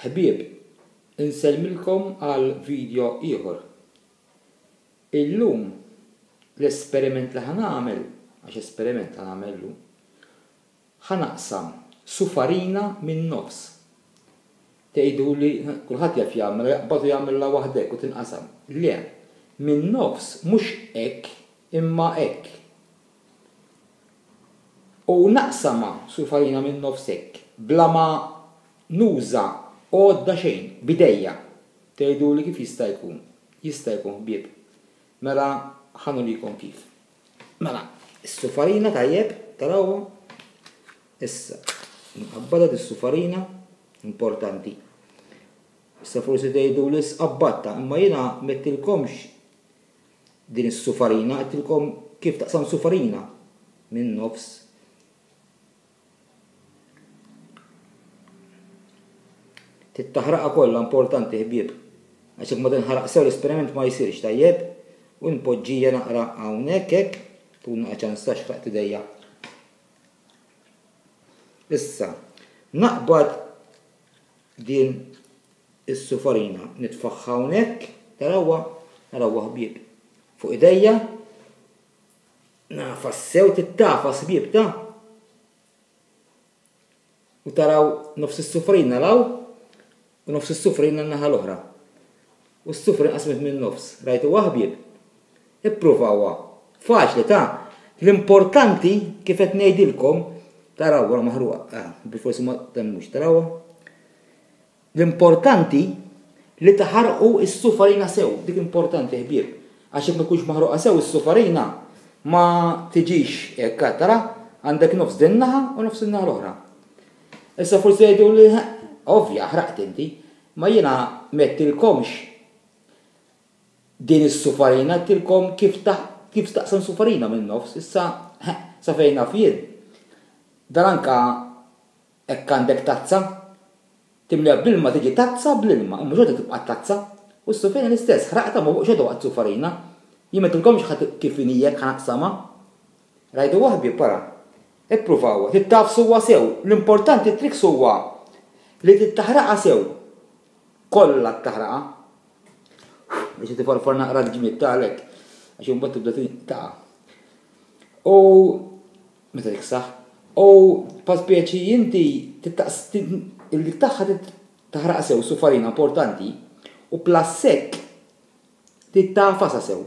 Ħbieb, insellmilkom għal video ieħor. Illum l-esperiment li ħa nagħmel, għax esperiment ħa nagħmel illum, ħa naqsam sufarina min-nofs. Tgħiduli, kulħadd jaf jagħmilha, jaqbad u jagħmilha waħdek u tinqasam. Le, min-nofs mhux hekk imma hekk. U naqsamha sufarina min-nofs hekk, bla ma nuża għodda xejn, b'idejja. Tgħiduli kif jista' jkun? Jista' jkun ħbieb. Mela ħa nurikom kif. Mela, is-sufarina tajjeb, tarawha? Issa, nqabbadha dis-sufarina, importanti. Issa forsi tgħiduli sqabbadtha, imma jiena m'għedtilkomx Din is-sufarina, għedtilkom kif taqsam sufarina minn nofs. Trid taħraqha kollha importanti ħbieb. Għax jekk ma tinħaraq sew l-esperiment ma jsirx tajjeb. U npoġġija naqra hawnhekk hekk, tkun naqra ċans ta' xraqt idejja. Issa, naqbad din is-sufarina nitfagħha hawnhekk, tarawha? Narawha ħbieb. Fuq idejja, nagħfas sew tittafas ħbieb ta' u taraw nofs is-sufrina law u nofs is-sufrina n-naħa l-oħra. U s-sufrina qasmet minn nofs. Rajtu ħbieb? Ippruvawha. Faċli ta' l-importanti kif qed ngħidilkom tarawha maħruqa, ah, bil-forsi ma temmux tarawha. L-importanti li taħarqu s-sufarina sew, dik importanti ħbieb, għax jekk ma tkunx maħruqa sew is-sufarina ma tiġix hekk, tara, għandek nofs din naħa u nofs in-naħa l-oħra. Issa forsi jgħidu li ovvja ħraqt inti, ma jiena m'għedtilkomx din is-sufarina, għedtilkom kif kif taqsam sufarina min-nofs, issa sa fejn naf jien. Dan anka Hekk għandek tazza, timliha bl-ilma tiġi tazza bl-ilma, imma xorta tibqa' tazza. U s-sufina l-istess, ħraqtha ma fuq xorta baqgħet sufarina. Jien m'għedtilkomx ħa kif inhi hekk ħa naqsamha. Rajtuha ħbieb ara. Ippruvawha, trid tagħfsuha sew. L-importanti t-tricks huwa li trid taħraqha sew. Kollha taħraqha. Biex tifarfar naqra l-ġmied ta' għalhekk. Għax imbagħad tibda taqa'. U Meta tiksaħ. U pa speċi inti il-dik tagħha taħraq sew su farina importanti u plus hekk trid tagħfasha sew.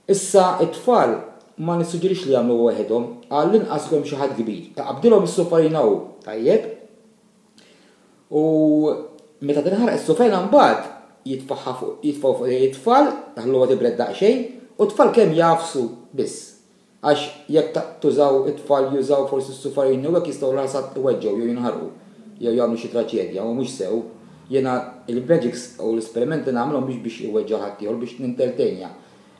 Issa t-tfal ma nissuġġerix li jagħmluha waħedhom, għall-inqas ikun hemm xi ħadd kbir. Taqbdilhom is-sufarina hu, tajjeb? U meta tinħaraq is-sufarina mbagħad jitfagħha fuq jitfgħu fuq it-tfal, taħluha tibred daqsxejn, u t-tfal kemm jagħfsu biss. Għax jekk tużaw it-tfal jużaw forsi s-sufarini u hekk jistgħu l-ħasad iweġġgħu jew jinħarqu jew jagħmlu xi traċedja u mhux sew. Jiena il-magics u l-esperimenti nagħmilhom mhux biex iweġġa' ħaddieħor biex nintertenja.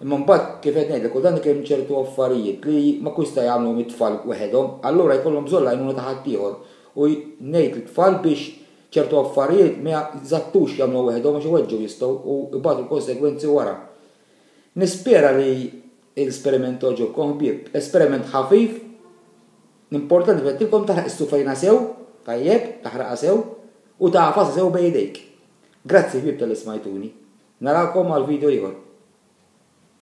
Imma mbagħad kif qed ngħidlek kultant ikun hemm ċertu affarijiet li ma jkunx jista' jagħmluhom it-tfal weħedhom allura jkollhom bżonn l-għajnuna ta' ħaddieħor u ngħid lit-tfal biex ċertu affarijiet ma jżattux jagħmluha weħedhom għax iweġġgħu jistgħu u jbatu l-konsegwenzi wara. Nispera li L-esperiment għoġobkom ħbieb. Esperiment ħafif. L-importanti kif għedtilkom taħraq is-sufajna sew, tajjeb, taħraqha sew, u tagħfasha sew bejn idejk. Grazzi ħbieb talli smajtuni. Narakom għal video ieħor.